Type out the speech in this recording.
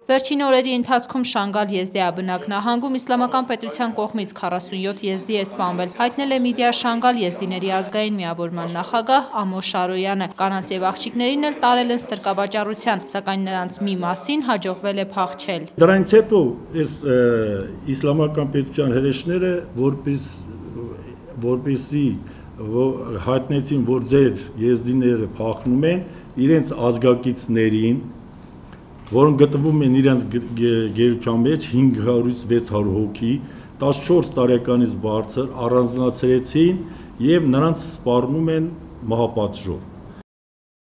Վերջին օրերի ընթացքում Շանգալ եզդիաբնակ նահանգում իսլամական պետության կողմից 47 եզդի է սպանվել, հայտնել է Միդիա Շանգալ եզդիների ազգային միավորման նախագահ Ամոշ Շարոյանը։ Կանանց եւ աղջիկներին էլ տարել են ստրկավաճառության, սակայն նրանց մի մասին հաջողվել է փախչել։ Դրանից հետո այս իսլամական պետության հրեշները որպեսզի հայտնեցին, որ ձեր եզդիները փախնում են, իրենց ազգակիցներին, որոնք գտնվում են իրենց գերության մեջ 500-ից 600 հոգի, 14 տարեկանից բարձր առանձնացրեցին եւ նրանց սպառնում են մահապատժով։